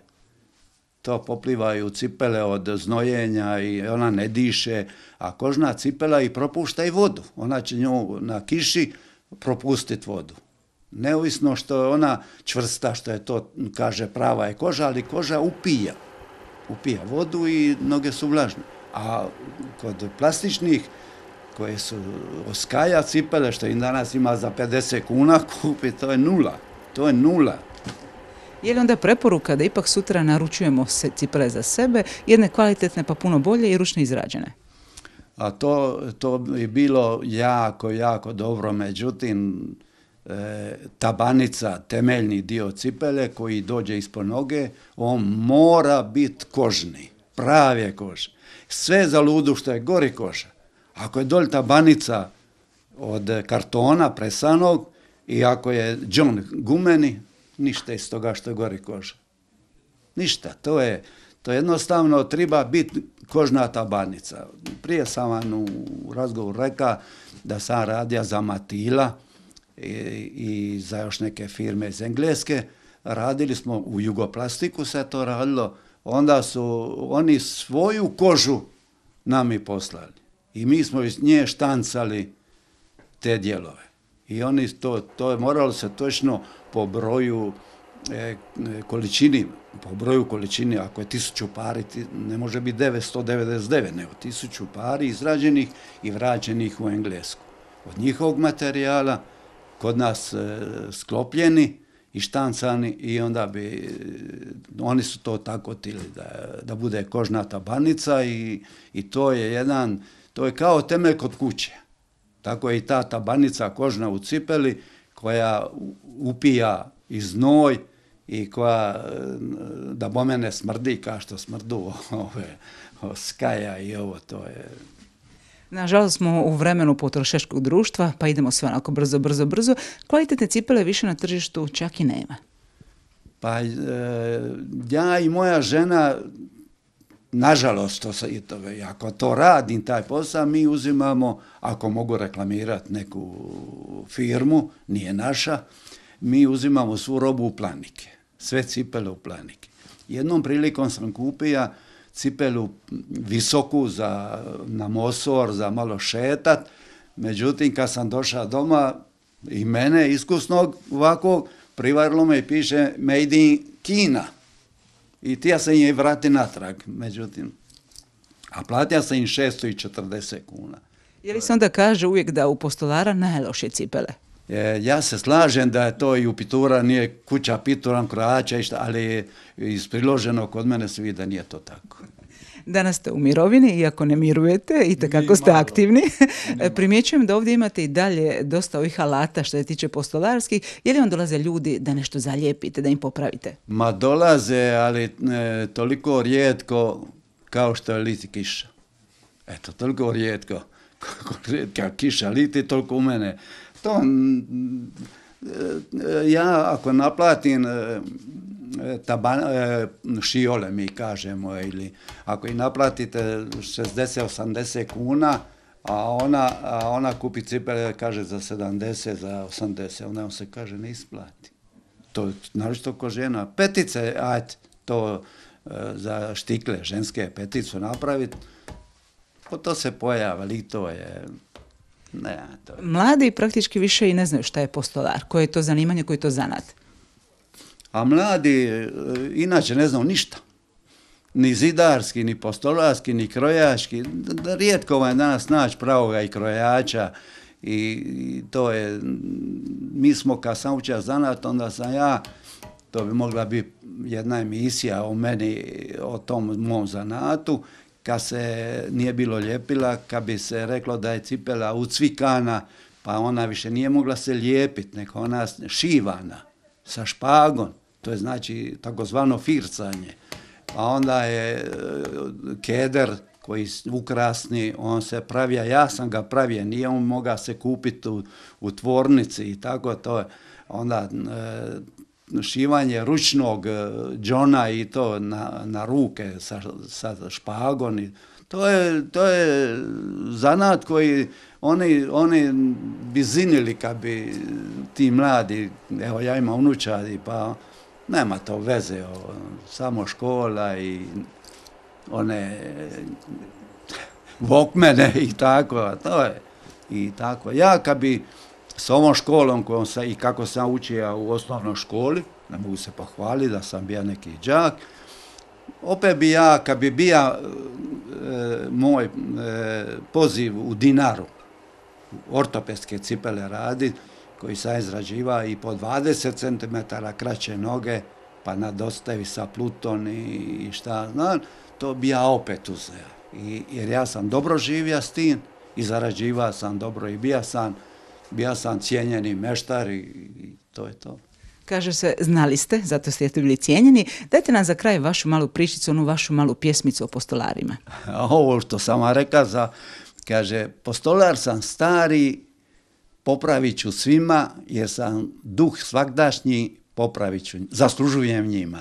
to poplivaju cipele od znojenja i ona ne diše, a kožna cipela i propušta i vodu. Ona će nju na kiši propustiti vodu. Neovisno što je ona čvrsta, što je to, kaže, prava je koža, ali koža upija. Upija vodu i noge su vlažne. A kod plastičnih, koje su Skaja cipele, što im danas ima za pedeset kuna kupi, to je nula. To je nula. Je li onda preporuka da ipak sutra naručujemo se cipele za sebe, jedne kvalitetne pa puno bolje i ručno izrađene? A to, to bi bilo jako, jako dobro, međutim, e, tabanica, temeljni dio cipele koji dođe ispod noge, on mora biti kožni, prave kože. Sve za ludu što je gori koža. Ako je dolje tabanica od kartona presanog i ako je džon gumeni, ništa iz toga što je gori koža. Ništa, to je, to jednostavno treba biti kožna tabanica. Prije sam vam u razgovoru rekao da sam radio za Matila i, i za još neke firme iz Engleske. Radili smo u Jugoplastiku, se to radilo, onda su oni svoju kožu nam i poslali. I mi smo iz nje štancali te dijelove. I oni to, to je moralo se točno po broju e, količini, po broju količini, ako je tisuću pari, ne može biti devetsto devedeset devet, nego tisuću pari izrađenih i vraćenih u Englesku. Od njihovog materijala, kod nas e, sklopljeni i štancani i onda bi, oni su to tako tili da, da bude kožna tabanica i, i to je jedan, to je kao temelj kod kuće. Tako je i ta tabanica kožna u cipeli koja upija i znoj i koja, da bome ne smrdi kao što smrdu ove Skaja i ovo, to je. Nažalost smo u vremenu potrošačkog društva, pa idemo sve onako brzo, brzo, brzo. Kvalitetne cipele više na tržištu čak i nema. Pa e, ja i moja žena, nažalost, to se, ako to radim, taj posao, mi uzimamo, ako mogu reklamirati neku firmu, nije naša, mi uzimamo svu robu u Planike, sve cipele u Planike. Jednom prilikom sam kupio cipelu visoku za, na Mosor, za malo šetat, međutim, kad sam došao doma, i mene, iskusnog ovakvog, privarilo me i piše Made in Kina. I ti ja sam je vrati natrag, međutim, a platio sam im šesto četrdeset kuna. Je li se onda kaže uvijek da u postolara najlošije cipele? E, ja se slažem da je to i u Pitura, nije kuća Pituram, krojača, ali iz priloženog kod mene se vidi da nije to tako. Danas ste u mirovini, iako ne mirujete i takako ste aktivni. Primjećujem da ovdje imate i dalje dosta ovih alata što se tiče postolarskih. Je li vam dolaze ljudi da nešto zalijepite, da im popravite? Ma dolaze, ali e, toliko rijetko kao što je liti kiša. Eto, toliko rijetko. Kako rijetka kiša liti, toliko u mene. To, e, ja ako naplatim e, Taban, šiole mi kažemo, ili ako i naplatite šezdeset osamdeset kuna, a ona, a ona kupi cipele, kaže za sedamdeset, za osamdeset, onda on se kaže ne isplati. To je naročito ko žena. Petice, ajde, to za štikle, ženske peticu napraviti, po to se pojava, ali to je. Ne, to je. Mladi praktički više i ne znaju šta je postolar, koje je to zanimanje, koji je to zanat. A mladi inače ne znaju ništa. Ni zidarski, ni postolarski, ni krojački. Rijetko vam je danas naći pravoga i krojača. I, i to je, mi smo kad sam učio zanat, onda sam ja to bi mogla biti jedna emisija o meni, o tom mom zanatu, kad se nije bilo ljepila, kad bi se reklo da je cipela ucvikana, pa ona više nije mogla se lijepiti, nego ona šivana sa špagom, to je znači takozvano fircanje. Pa onda je keder koji ukrasni, on se pravija, ja sam ga pravio, nije on mogao se kupiti u, u tvornici i tako to je. Onda e, šivanje ručnog džona i to na, na ruke sa, sa špagom. I to, je, to je zanat koji oni, oni bi zinili kad bi ti mladi, evo ja imam unučadi, pa nema to veze, o, samo škola i one vokmene i tako, to je i tako. Ja kad bi s ovom školom kojom sam, i kako sam učio u osnovnoj školi, ne mogu se pohvaliti da sam bio neki đak, opet bi ja, kad bi bio e, moj e, poziv u Dinaru, ortopedske cipele radi, koji sam izrađivao i po dvadeset centimetara kraće noge, pa nadostavi sa Pluton i, i šta znam, to bi ja opet uzeo. I, jer ja sam dobro živio s tim i zarađivao sam dobro i bio sam, bio sam cijenjeni meštar i, i to je to. Kaže se, znali ste, zato ste bili cijenjeni. Dajte nam za kraj vašu malu pričicu, onu vašu malu pjesmicu o postolarima. Ovo što sam vam rekao, za, kaže, postolar sam stari, popravit ću svima, jer sam duh svagdašnji, popravit ću, zaslužujem njima.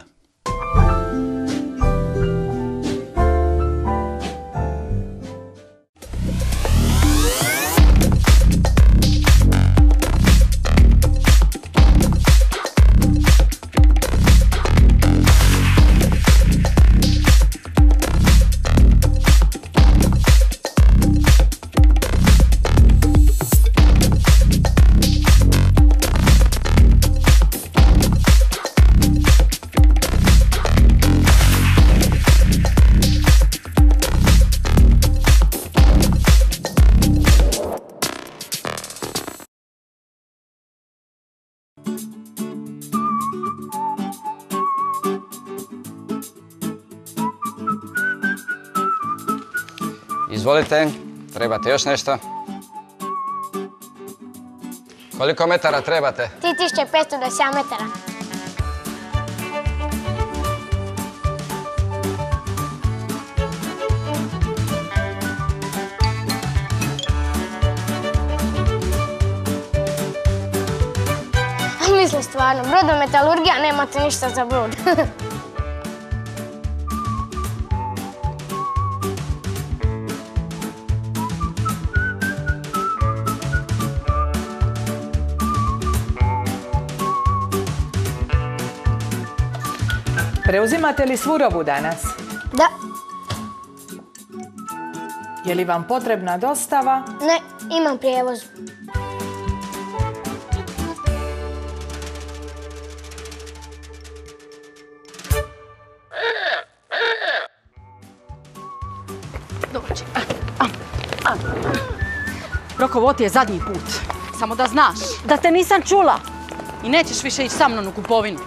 Izvolite, trebate još nešto? Koliko metara trebate? tri tisuće petsto dvadeset sedam metara. Mislim stvarno, brodometalurgija, nemate ništa za brod. Preuzimate li svu robu danas? Da. Je li vam potrebna dostava? Ne, imam prijevoz. Dođi. Roko, ovo ti je zadnji put. Samo da znaš. Da te nisam čula. I nećeš više ići sa mnom u kupovinu.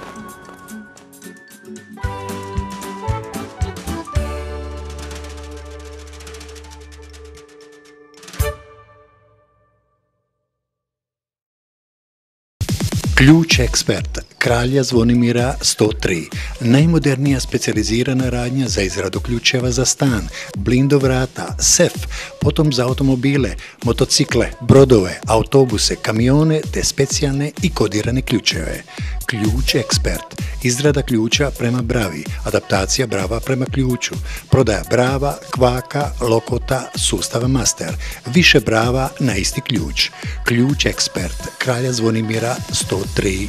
Ključ ekspert Kralja Zvonimira sto tri. Najmodernija specijalizirana radnja za izradu ključeva za stan, blindo vrata, sef, potom za automobile, motocikle, brodove, autobuse, kamione te specijalne i kodirane ključeve. Ključ ekspert. Izrada ključa prema bravi, adaptacija brava prema ključu, prodaja brava, kvaka, lokota, sustava master, više brava na isti ključ. Ključ ekspert Kralja Zvonimira sto tri.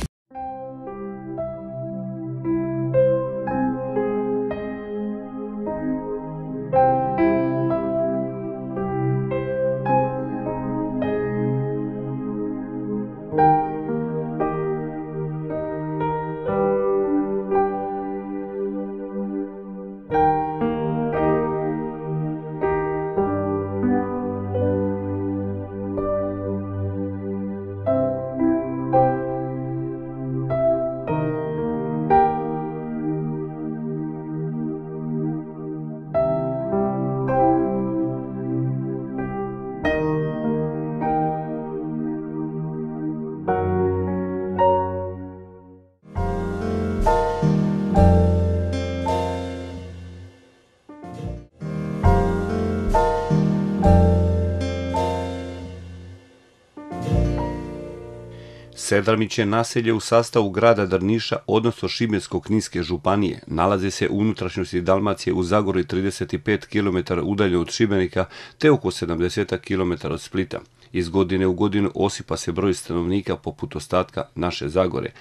Sedramić je naselje u sastavu grada Drniša, odnosno Šibensko-kninske županije. Nalazi se u unutrašnjosti Dalmacije u Zagori trideset pet kilometara udaljeno od Šibenika te oko sedamdeset kilometara od Splita. Iz godine u godinu osipa se broj stanovnika poput ostatka naše Zagore.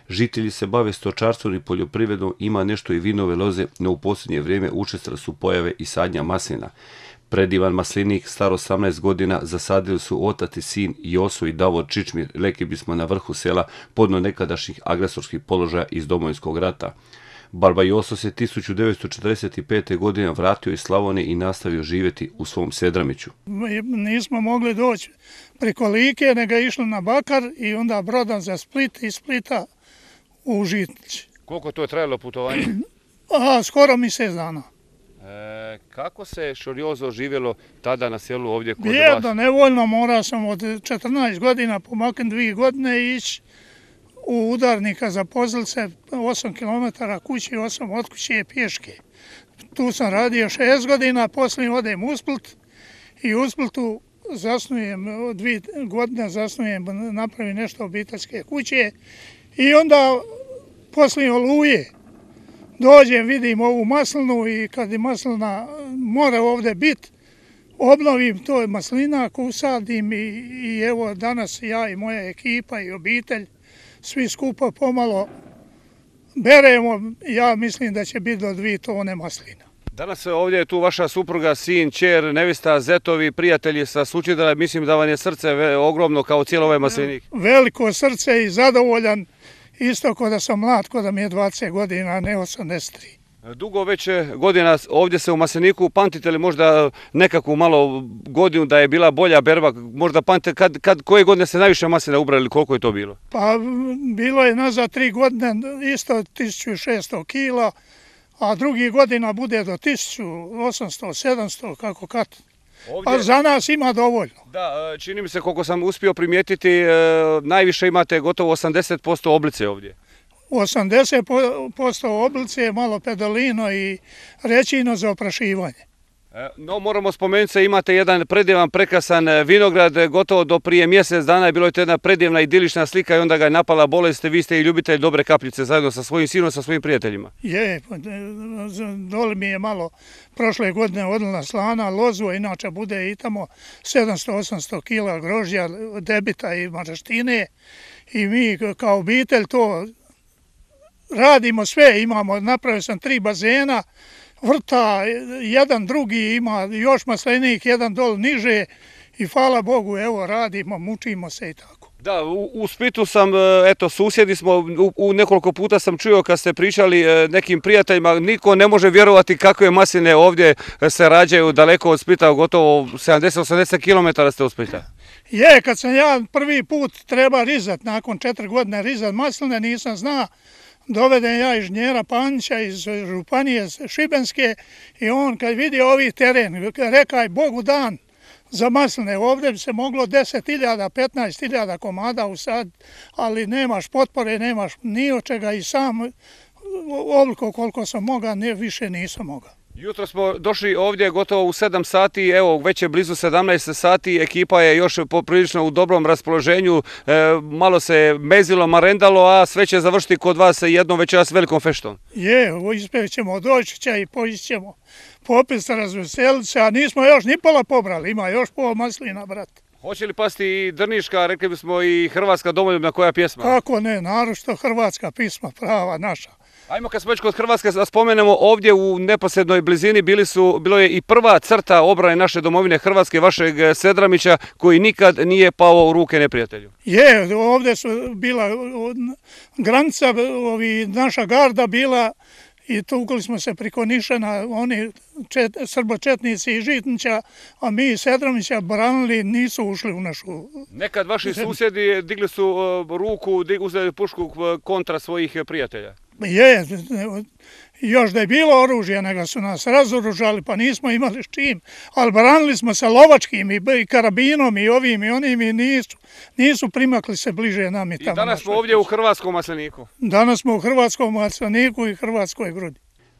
Žitelji se bave stočarstvom i poljoprivredom, ima nešto i vinove loze, no u posljednje vrijeme učestale su pojave i sadnja maslina. Predivan maslinik, star osamnaest godina, zasadili su otac i sin Joso i Davor Čičmir, rekli bismo na vrhu sela, podno nekadašnjih agresorskih položaja iz Domovinskog rata. Barba Joso se tisuću devetsto četrdeset pete. godine vratio iz Slavonije i nastavio živjeti u svom Sedramiću. Nismo mogli doći preko Like, nego išli na Bakar i onda brodom za Split i Splita u Žitnić. Koliko to je trajalo putovanje? Aha, skoro mjesec dana. E, kako se Šoriozo živjelo tada na selu ovdje kod vas? Bijedno, nevoljno, morao sam od četrnaest godina pomaknuti dvije godine ići u udarnika za Pozlce, osam kilometara kući, osam od kuće pješke. Tu sam radio šest godina, poslije odem u Split i u Splitu zasnujem, dvije godine zasnujem, napravim nešto obiteljske kuće i onda poslije Oluje dođem, vidim ovu maslinu i kad je maslina mora ovdje biti, obnovim to maslinak, usadim i, i evo danas ja i moja ekipa i obitelj svi skupa pomalo beremo, ja mislim da će biti do dvije tone maslina. Danas ovdje je tu vaša supruga, sin, ćer, nevista, zetovi, prijatelji sa Sućidra, mislim da vam je srce ogromno kao cijelo ovaj maslinik. Veliko srce i zadovoljan, isto ko da sam mlad, ko da mi je dvadeset godina, a ne osamdeset tri. Dugo već godina ovdje se u masliniku, pamtite li možda nekakvu malo godinu da je bila bolja berba, možda pamtite kad, kad, koje godine ste najviše maslina ubrali ili koliko je to bilo? Pa bilo je nazad tri godine isto tisuću šesto kila, a drugi godina bude do tisuću osamsto sedamsto kako kad. Ovdje... A za nas ima dovoljno. Da, čini mi se koliko sam uspio primijetiti, najviše imate gotovo osamdeset posto oblice ovdje. osamdeset posto oblice, malo pedalino i rećino za oprašivanje. No, moramo spomenuti se, imate jedan predivan, prekrasan vinograd, gotovo do prije mjesec dana je bilo je to jedna predivna idilična slika i onda ga je napala bolest, vi ste i ljubitelj dobre kapljice zajedno sa svojim sinom, sa svojim prijateljima. Je, dole mi je malo prošle godine odlila slana, lozu, inače bude i tamo sedamsto osamsto kila grožđa, debita i maraštine i mi kao obitelj to radimo sve, imamo, napravio sam tri bazena, vrta, jedan drugi ima još maslinik, jedan dol niže i hvala Bogu, evo radimo, mučimo se i tako. Da, u, u Splitu sam, eto, susjedi smo, u, u nekoliko puta sam čuo kad ste pričali nekim prijateljima, niko ne može vjerovati kakve masline ovdje se rađaju daleko od Splita, gotovo sedamdeset osamdeset kilometara ste od Splita. Je, kad sam ja prvi put treba rizat, nakon četiri godine rizat masline, nisam zna. Doveden ja inženjera Panića iz županije Šibenske i on kad vidi ovi teren, rekaj Bogu dan za masline, ovdje bi se moglo deset hiljada, petnaest hiljada komada usaditi, ali nemaš potpore, nemaš ni od čega i sam ovoliko koliko sam mogao, ne, više nisam mogao. Jutro smo došli ovdje gotovo u sedam sati, evo već je blizu sedamnaest sati, ekipa je još poprilično u dobrom raspoloženju, e, malo se mezilo, marendalo, a sve će završiti kod vas jednom večeras velikom feštom. Je, uspjet ćemo doći će i poći ćemo popit se, razveseliti se, a nismo još ni pola pobrali, ima još pol maslina, brat. Hoće li pasti i drniška, rekli bismo i hrvatska domoljubna koja pjesma? Kako ne, naročito hrvatska pisma, prava naša. Ajmo kad smo već kod Hrvatske da spomenemo, ovdje u neposrednoj blizini bili su, bilo je i prva crta obrane naše domovine Hrvatske, vašeg Sedramića, koji nikad nije pao u ruke neprijatelju. Je, ovdje su bila granica, ovi, naša garda bila i tukli smo se priko Nišana, oni čet, srbočetnici iz Žitnića, a mi iz Sedramića branili, nisu ušli u našu... Nekad vaši susjedi digli su uh, ruku, dig, uzeli pušku kontra svojih prijatelja. Je, još da je bilo oružje, nego su nas razoružali, pa nismo imali s čim, ali branili smo se lovačkim i karabinom i ovim i onim i nisu, nisu primakli se bliže nam i tamo. I danas smo ovdje u hrvatskom masliniku. Danas smo u hrvatskom masliniku i hrvatskoj grudi.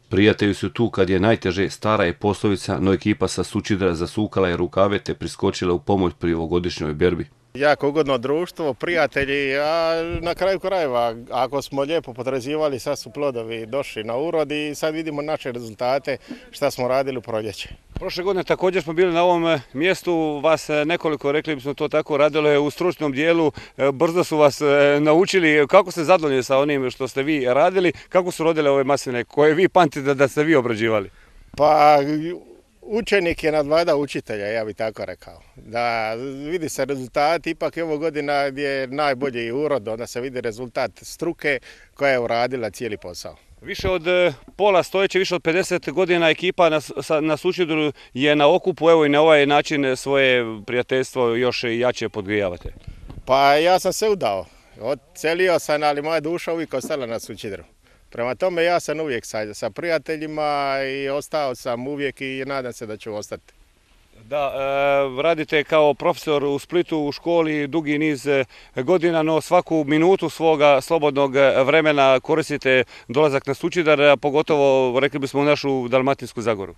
Prijatelji su tu kad je najteže, stara je poslovica, no ekipa sa Sućidra zasukala je rukave te priskočila u pomoć pri ovogodišnjoj berbi. Jako ugodno društvo, prijatelji, a na kraju krajeva, ako smo lijepo potraživali, sad su plodovi došli na urod i sad vidimo naše rezultate šta smo radili u proljeće. Prošle godine također smo bili na ovom mjestu, vas nekoliko, rekli bismo to tako, radilo je u stručnom dijelu, brzo su vas naučili. Kako ste zadovoljni sa onim što ste vi radili, kako su rodile ove masline koje vi pamtite da ste vi obrađivali? Pa učenik je nadvlada učitelja, ja bih tako rekao. Da vidi se rezultat, ipak je ovo godina gdje je najbolji urod, onda se vidi rezultat struke koja je uradila cijeli posao. Više od pola stojeće, više od pedeset godina ekipa na, na Sućidru je na okupu, evo i na ovaj način svoje prijateljstvo još jače podgrijavate. Pa ja sam se udao, odselio sam, ali moja duša uvijek ostala na Sućidru. Prema tome ja sam uvijek sa, sa prijateljima i ostao sam uvijek i nadam se da ću ostati. Da, e, radite kao profesor u Splitu u školi dugi niz godina, no svaku minutu svoga slobodnog vremena koristite dolazak na Sućidar, pogotovo rekli bismo u našu Dalmatinsku Zagoru.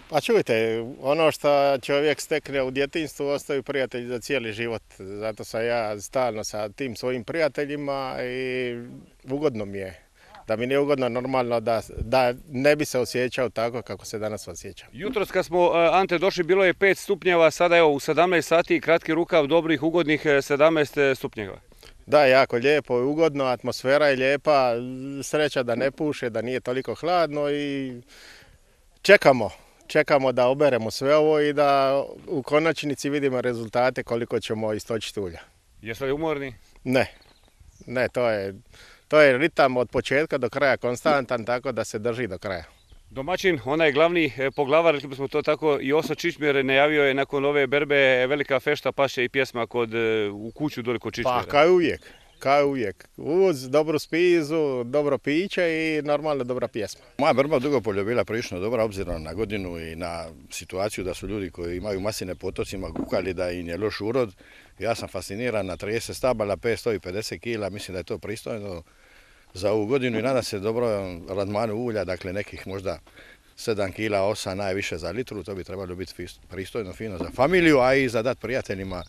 Pa čujte, ono što čovjek stekne u djetinjstvu ostaju prijatelji za cijeli život. Zato sam ja stalno sa tim svojim prijateljima i ugodno mi je. Da mi nije ugodno normalno da, da ne bi se osjećao tako kako se danas osjećam. Jutros kad smo, Ante, došli bilo je pet stupnjeva, sada evo u sedamnaest sati kratki rukav, dobrih, ugodnih sedamnaest stupnjeva. Da, jako lijepo i ugodno, atmosfera je lijepa, sreća da ne puše, da nije toliko hladno i čekamo. Čekamo da oberemo sve ovo i da u konačnici vidimo rezultate koliko ćemo istočiti ulja. Jeste li umorni? Ne, ne, to je... To je ritam od početka do kraja konstantan, tako da se drži do kraja. Domaćin, onaj glavni poglavar, rekli bismo to tako, Joso Čičmir najavio je nakon ove berbe velika fešta, paše i pjesma kod, u kuću dole kod Čičmira. Pa kao uvijek, kao uvijek. Uz dobru spizu, dobro piće i normalno dobra pjesma. Moja berba u Dugopolju bila prilično dobra obzirom na godinu i na situaciju da su ljudi koji imaju masline po otocima kukali da im je loš urod. Ja sam fasciniran na trideset stabala, petsto pedeset kila, mislim da je to pristojno za ovu godinu i nadam se dobro radmanu ulja, dakle nekih možda sedam kila, osam najviše za litru, to bi trebalo biti pristojno, fino za familiju, a i za dat prijateljima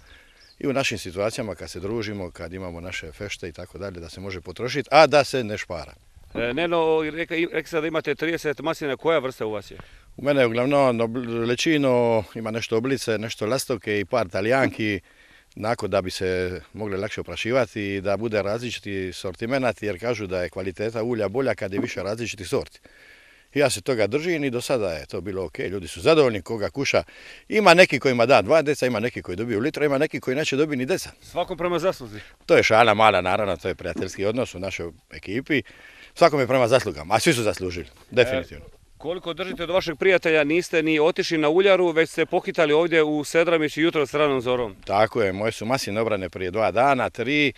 i u našim situacijama kad se družimo, kad imamo naše fešte i tako dalje, da se može potrošiti, a da se ne špara. E, Neno, rekli ste da imate trideset maslina, koja vrsta u vas je? U mene je uglavnom lečino, ima nešto oblice, nešto lastovke i par talijanki, nakon da bi se mogli lakše oprašivati i da bude različiti sortimenat, jer kažu da je kvaliteta ulja bolja kad je više različitih sorti. Ja se toga držim i do sada je to bilo ok, ljudi su zadovoljni koga kuša. Ima neki kojima da dva deca, ima neki koji dobiju litra, ima neki koji neće dobiti ni deca. Svakom prema zasluzi? To je šala mala, naravno, to je prijateljski odnos u našoj ekipi. Svakom je prema zaslugama, a svi su zaslužili, definitivno. E, koliko držite od vašeg prijatelja, niste ni otišli na uljaru, već ste pohitali ovdje u Sedramić jutro s ranom zorom. Tako je, moje su masline obrane prije dva dana, tri.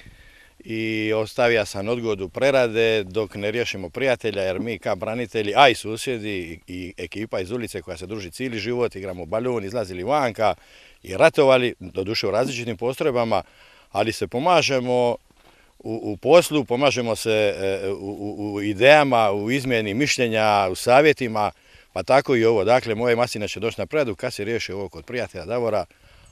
I ostavio sam odgodu prerade dok ne riješimo prijatelja, jer mi kao branitelji, a i susjedi i ekipa iz ulice koja se druži cijeli život, igramo balon, izlazili vanka i ratovali, doduše u različitim postrojbama, ali se pomažemo u, u poslu, pomažemo se u, u, u idejama, u izmjeni mišljenja, u savjetima, pa tako i ovo. Dakle, moje masline će doći na preradu kad se riješi ovo kod prijatelja Davora,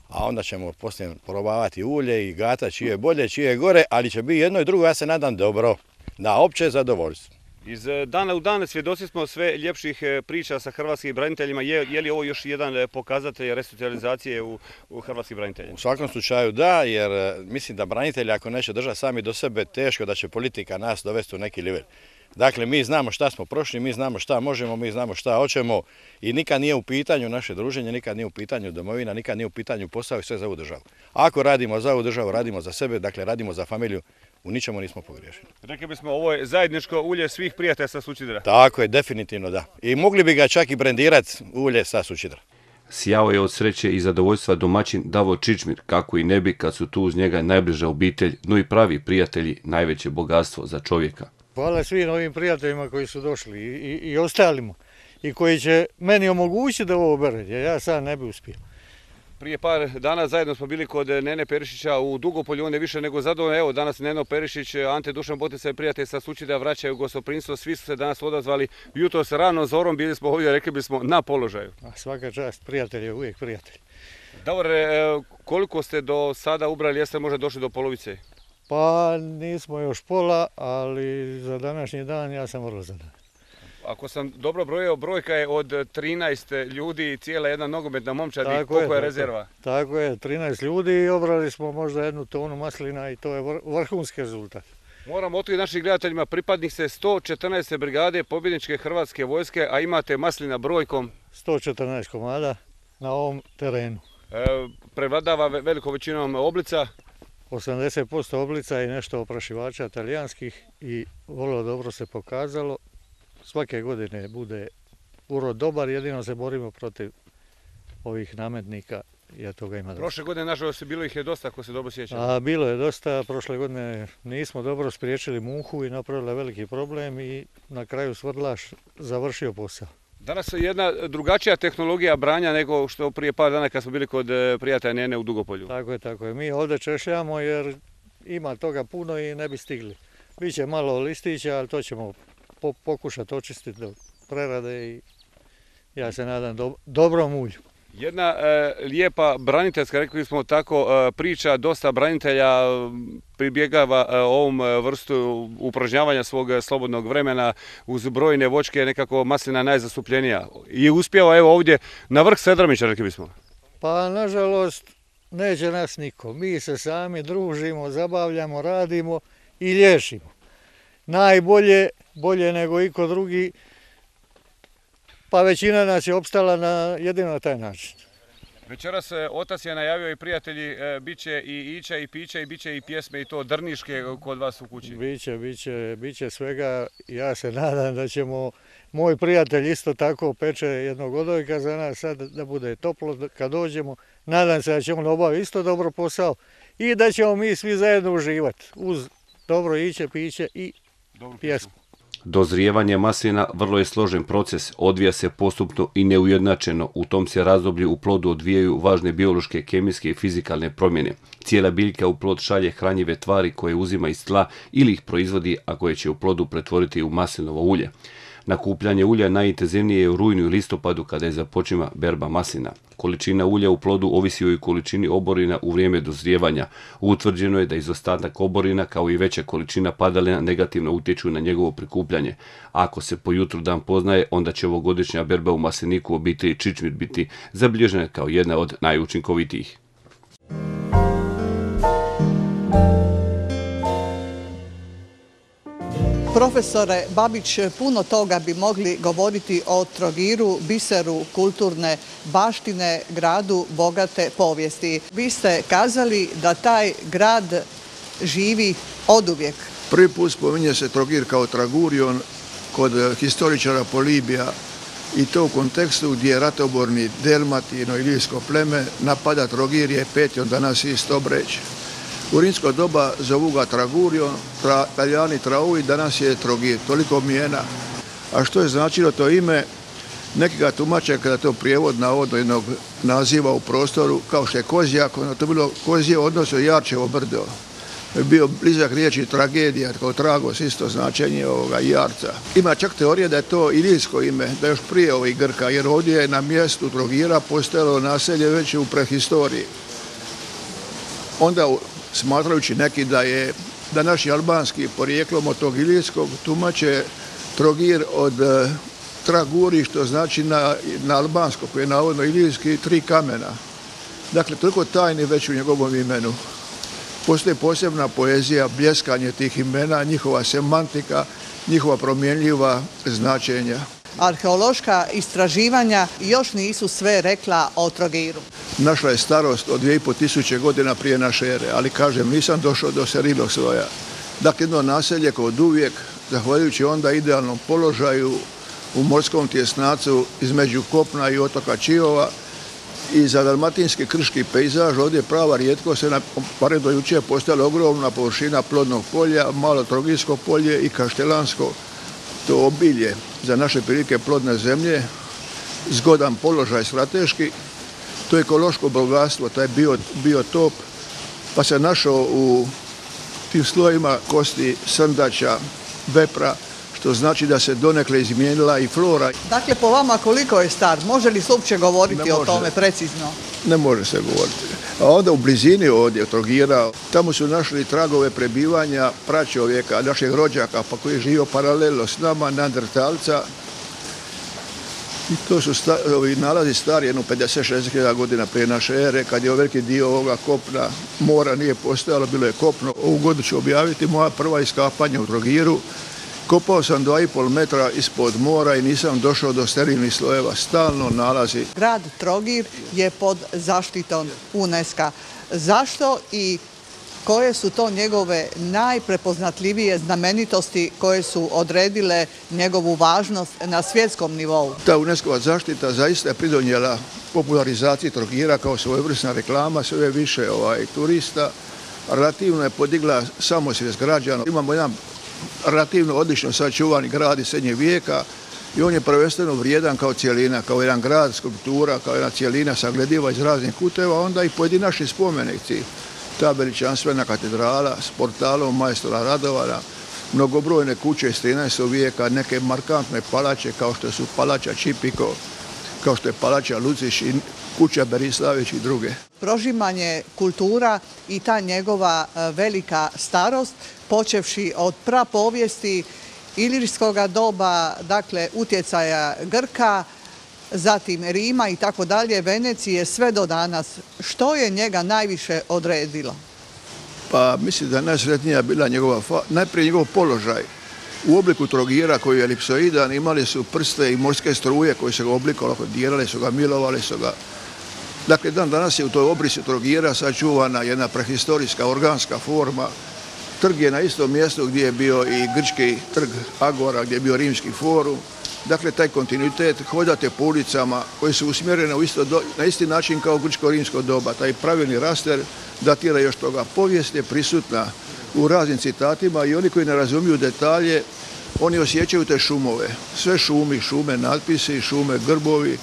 a onda ćemo poslije probavati ulje i gata čije je bolje, čije je gore, ali će biti jedno i drugo, ja se nadam, dobro, na opće zadovoljstvo. Iz dana u dan svjedoci smo sve ljepših priča sa hrvatskim braniteljima. Je, je li ovo još jedan pokazatelj resocijalizacije u, u hrvatskih branitelja? U svakom slučaju da, jer mislim da branitelji ako neće držati sami do sebe, teško da će politika nas dovesti u neki nivel. Dakle, mi znamo šta smo prošli, mi znamo šta možemo, mi znamo šta hoćemo i nikad nije u pitanju naše druženje, nikad nije u pitanju domovina, nikad nije u pitanju posao i sve za ovu državu. Ako radimo za ovu državu, radimo za sebe, dakle radimo za familiju, u ničemu nismo pogriješili. Rekli bismo, ovo je zajedničko ulje svih prijatelja sa Sućidra. Tako je, definitivno da. I mogli bi ga čak i brendirati ulje sa Sućidra. Sjao je od sreće i zadovoljstva domaćin Davor Čičmir, kako i ne bi kad su tu uz njega najbliža obitelj, no i pravi prijatelji, najveće bogatstvo za čovjeka. Hvala svim ovim prijateljima koji su došli i, i, i ostalima i koji će meni omogućiti da ovo oberem, jer ja sad ne bi uspio. Prije par dana zajedno smo bili kod Nene Perišića u Dugopolju, on je više nego zadovoljan. Evo danas Neno Perišić, Ante Dušan Botica i prijatelj sa Sućidra vraćaju gostoprinstvo. Svi su se danas odazvali jutros rano zorom, bili smo ovdje, rekli bismo, na položaju. A svaka čast, prijatelj je uvijek prijatelj. Davore, koliko ste do sada ubrali, jeste možda došli do polovice? Pa nismo još pola, ali za današnji dan ja sam vrlo zadovoljan. Ako sam dobro brojio, brojka je od trinaest ljudi i cijela jedna nogometna momčad. I koliko je, je rezerva? Tako je, trinaest ljudi i obrali smo možda jednu tonu maslina i to je vrhunski rezultat. Moram otkriti našim gledateljima, pripadnik ste sto četrnaeste brigade pobjedničke hrvatske vojske, a imate maslina brojkom? sto četrnaest komada na ovom terenu. E, prevladava velikom većinom oblica? osamdeset posto oblica i nešto oprašivača talijanskih i vrlo dobro se pokazalo. Svake godine bude urod dobar, jedino se borimo protiv ovih nametnika i toga ima dosta. Prošle godine, nažalost, bilo ih je dosta, ako se dobro sjećam. A bilo je dosta, prošle godine nismo dobro spriječili muhu i napravili veliki problem i na kraju svrdlaš završio posao. Danas je jedna drugačija tehnologija branja nego što prije par dana kad smo bili kod prijatelja Nene u Dugopolju. Tako je, tako je. Mi ovdje češljamo jer ima toga puno i ne bi stigli. Biće malo listića, ali to ćemo pokušati očistiti do prerade i ja se nadam do, dobrom ulju. Jedna e, lijepa braniteljska, rekli smo tako, e, priča, dosta branitelja pribjegava e, ovom vrstu upražnjavanja svog slobodnog vremena uz brojne voćke, nekako maslina najzastupljenija. I uspjeva evo ovdje na vrh Sedramića, rekli bismo. Pa nažalost neće nas niko. Mi se sami družimo, zabavljamo, radimo i liječimo. Najbolje, bolje nego iko drugi, pa većina nas je opstala na jedino na taj način. Večeras otac je najavio i prijatelji, bit će i ića i pića i bit će i pjesme i to drniške kod vas u kući. Biće, biće, biće svega. Ja se nadam da ćemo, moj prijatelj isto tako peče jednog odojka za nas sad da bude toplo kad dođemo. Nadam se da ćemo obaviti isto dobro posao i da ćemo mi svi zajedno uživati uz dobro iće, piće i pjesmu. Dozrijevanje maslina vrlo je složen proces, odvija se postupno i neujednačeno. U tom se razdoblju u plodu odvijaju važne biološke, kemijske i fizikalne promjene. Cijela biljka u plod šalje hranjive tvari koje uzima iz tla ili ih proizvodi, a koje će u plodu pretvoriti u maslinovo ulje. Nakupljanje ulja najintenzivnije je u rujnu i listopadu kada je započima berba maslina. Količina ulja u plodu ovisi o i količini oborina u vrijeme dozrijevanja. Utvrđeno je da izostatak oborina kao i veća količina padalina negativno utječu na njegovo prikupljanje. Ako se po jutru dan poznaje, onda će ovogodišnja berba u masliniku obitelji Čičmir biti zabilježena kao jedna od najučinkovitijih. Profesore Babić, puno toga bi mogli govoriti o Trogiru, biseru kulturne baštine, gradu bogate povijesti. Vi ste kazali da taj grad živi oduvijek. Prvi put spominje se Trogir kao Tragurion kod historičara Polibija i to u kontekstu gdje je ratoborni Delmatino ilijsko pleme napada Trogir je Petion, danas isto Breć. U rimsko doba zovu ga Tragurion, tra, Talijani Traui, danas je Trogir, toliko mijena. A što je značilo to ime? Neki ga tumače kada to prijevod navodno jednog naziva u prostoru, kao što je Kozjak, ono to bilo Kozije odnosno Jarčevo brdo. Je bio blizak riječi tragedija, kao tragos, isto značenje ovoga Jarca. Ima čak teorije da je to ilijsko ime, da je još prije ovih Grka, jer ovdje je na mjestu Trogira postojalo naselje već u prehistoriji. Onda smatrajući neki da je da naši albanski porijeklom od tog ilijskog tumače Trogir od e, Traguri, što znači na, na albansko, koji je navodno ilijski, tri kamena. Dakle, toliko tajni već u njegovom imenu. Postoji posebna poezija, bljeskanje tih imena, njihova semantika, njihova promjenljiva značenja. Arheološka istraživanja još nisu sve rekla o Trogiru. Našla je starost od dvije i pol tisuće godina prije naše ere, ali kažem, nisam došao do serilog svoja. Dakle, jedno naselje koje od uvijek, zahvaljujući onda idealnom položaju u morskom tjesnacu između kopna i otoka Čiova i za dalmatinski krški pejzaž, ovdje je prava rijetko se, barem do jučer, postojala ogromna površina plodnog polja, malo Trogirsko polje i Kaštelansko, to obilje za naše prilike plodne zemlje, zgodan položaj strateški, to je ekološko bogatstvo, taj bio, biotop, pa se našao u tim slojima kosti srndaća, vepra, što znači da se donekle izmijenila i flora. Dakle, po vama koliko je star? Može li se uopće govoriti o tome precizno? ne može se govoriti. A onda u blizini ovdje Trogira, tamo su našli tragove prebivanja pračovjeka, našeg rođaka, pa koji je živio paralelno s nama, neandertalca. I to su sta, ovi nalazi stari jedno pedeset šezdeset hiljada godina prije naše ere, kad je veliki dio ovoga kopna, mora nije postojalo, bilo je kopno. Ovu godinu ću objaviti moja prva iskapanja u Trogiru. Kopao sam dva i pol metra ispod mora i nisam došao do sterilnih slojeva. Stalno nalazi. Grad Trogir je pod zaštitom UNESCO. Zašto i koje su to njegove najprepoznatljivije znamenitosti koje su odredile njegovu važnost na svjetskom nivou? Ta UNESCO-va zaštita zaista je pridonijela popularizaciji Trogira kao svojevrsna reklama, sve više ovaj, turista. Relativno je podigla samosvijest građana. Imamo jedan relativno odlično sačuvani grad iz srednjeg vijeka i on je prvenstveno vrijedan kao cijelina, kao jedan grad, skulptura, kao jedna cijelina saglediva iz raznih kuteva, onda i pojedinačni spomenici. Ta veličanstvena katedrala s portalom majstora Radovana, mnogobrojne kuće iz trinaestog vijeka, neke markantne palače kao što su palača Čipiko, kao što je palača Luciš i kuća Berislavić i druge. Prožimanje kultura i ta njegova velika starost, počevši od prapovijesti ilirskog doba, dakle utjecaja Grka, zatim Rima i tako dalje, Venecije, sve do danas. Što je njega najviše odredilo? Pa mislim da je najsretnija bila njegova, najprije njegov položaj. U obliku Trogira koji je elipsoidan imali su prste i morske struje koji su ga oblikovali, dirali su ga, milovali su ga. Dakle, dan danas je u toj obrisi Trogira sačuvana jedna prehistorijska organska forma. Trg je na istom mjestu gdje je bio i grčki trg Agora, gdje je bio rimski forum. Dakle, taj kontinuitet, hodate po ulicama koje su usmjerene u isto do, na isti način kao grčko-rimsko doba. Taj pravilni raster datira još toga. Povijest je prisutna u raznim citatima i oni koji ne razumiju detalje, oni osjećaju te šumove. Sve šumi, šume, natpisi, šume, grbovi.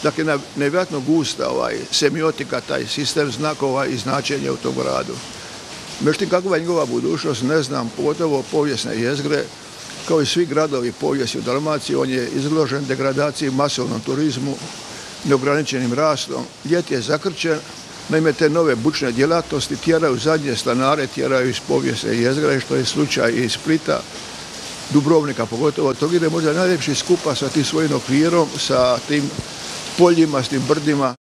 Dakle, nevjerojatno gusta ovaj, semiotika, taj sistem znakova i značenja u tom gradu. Međutim, kakva je njegova budućnost, ne znam, pogotovo povijesne jezgre, kao i svi gradovi povijesti u Dalmaciji, on je izložen degradaciji, masovnom turizmu, neograničenim rastom. Ljet je zakrčen, naime te nove bučne djelatnosti tjeraju zadnje stanare, tjeraju iz povijesne jezgre, što je slučaj i iz Splita, Dubrovnika pogotovo. Trogir je možda najljepši skupa sa tim svojim okvirom, sa tim poljima, s tim brdima.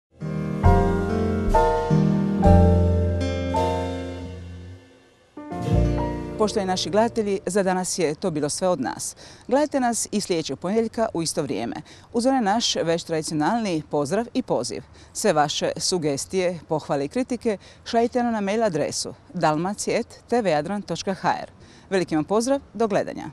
Poštovani naši gledatelji, za danas je to bilo sve od nas. Gledajte nas i sljedećeg ponedjeljka u isto vrijeme. Uz onaj naš već tradicionalni pozdrav i poziv. Sve vaše sugestije, pohvale i kritike šaljite nam na mail adresu dalmacije at t v jadran točka h r. Veliki vam pozdrav, do gledanja.